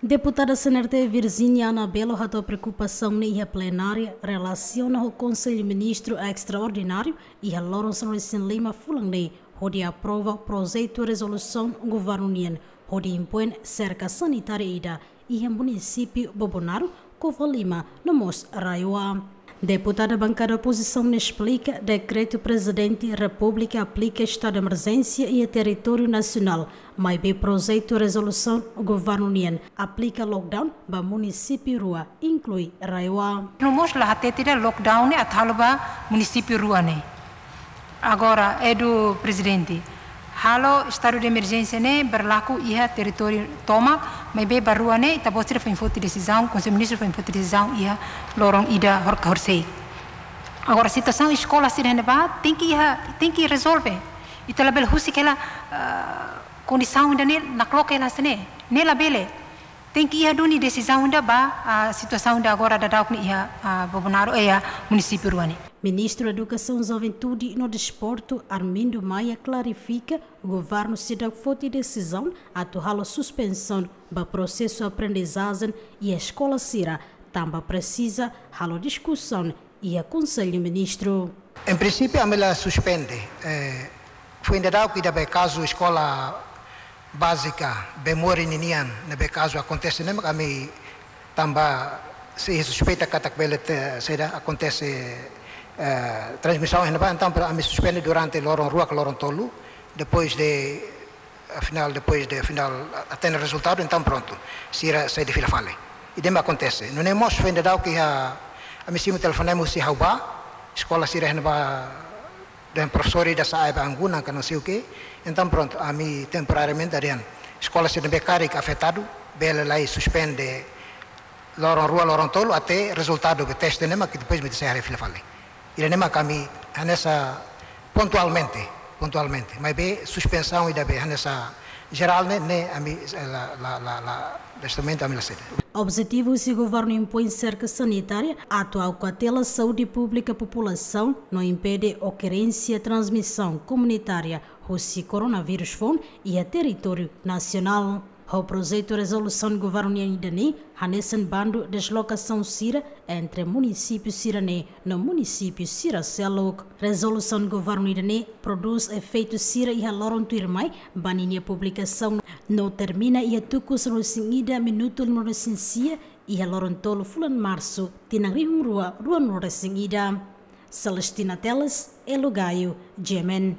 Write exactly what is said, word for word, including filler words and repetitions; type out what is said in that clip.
Deputada C N R T Virginia Anabelo hato'o preokupasaun ne'e iha plenária relasiona ho Konsellu Ministru Estraordináriu iha loron sanulu-resin-lima fulan ne'e, hodi aprova projetu rezolusaun governu nian hodi impoin serka sanitária ida iha munisípiu Bobonaro, Covalima no mós RAEOA. Deputada bankada opozisaun ne'e esplika dekretu Prezidente Repúblika aplika estadu de emerjénsia iha territóriu nasionál, maibé projetu rezolusaun governu nian aplika lockdown ba munisípiu rua, inklui RAEOA. No mós la hatete ida lockdown ne'e atu halo ba munisípiu rua ne'e. Agora, Edu Prezidente, halo estadu de emerjénsia ne'e berlaku iha territóriu tomak, maibé ba rua ne'e ita-boot sira foin foti desizaun, Konsellu Ministru foin foti desizaun iha loron ida hor-, horisehik. Agora, situasaun eskola sira ne'ebá tenke iha, tenke rezolve. Ita labele husik hela, ah, kondisaun ida ne'e nakloke hela hanesan ne'e. Ne'e labele. Tenke iha duni desizaun ida ba, ah, situasaun ida agora daudauk ne'e iha, ah, Bobonaro, eh, iha munisípiu rua ne'e. Ministru Edukasaun, Juventude no Desportu, Armindo Maia, klarifika, governu seidauk foti desizaun atu halo suspensaun ba prosesu aprendizajen iha eskola sira, tanba presiza halo diskusaun iha Konsellu Ministru. Em princípio, ami la suspende. Eh, foin daudauk ida be kazu eskola bázika, be mori ninian, ne'ebé kazu akontese ne'e mak ami tanba sei suspeita katak bele te, saida, akontese, eh, transmisaun iha ne'ebá, entaun ami suspende durante loron rua ka loron tolu, depois de, afinál, depois de, afinál, hatene rezultadu, entaun prontu, sira sai fila fali. Ida-ne'e mak akontese. Nune'e mós foin daudauk iha, ami simu telefonema husi ha'u ba, eskola sira iha ne'ebá, dehan profesór ida sa'e ba angunan ka não sei o quê. Entaun prontu, ami temporariamente dehan eskola sira ne'ebé karik afetadu, bele lai suspende loron rua, loron tolu, até rezultadu be teste ne'e mak depois mak ita sei haree fila fali. Ida-ne'e mak ami hanesan pontualmente, pontualmente. Maibé suspensaun ida be hanesan jerál ne'e, ne'e ami, eh, la, la, la, la, neste momento ami la sei. Objetivu husi governu impoin serka sanitária atu halo kautela saúde públika populasaun no impede okorrénsia transmisaun komunitária husi koronavírus foun iha territóriu nasionál. Ho projetu rezolusaun governu nian ida-ne'e hanesan bandu deslokasaun sira entre munisípiu sira-ne'e no munisípiu sira seluk. Rezolusaun governu ida-ne'e prodús efeitu sira iha loron tuirmai ba ninia publikasaun no termina iha tuku sanulu-resin-ida minutu limanulu-resin-sia iha loron tolu fulan Marsu, tinan rihun rua ruanulu-resin-ida. Celestina Teles, Elo Gaio, G M N.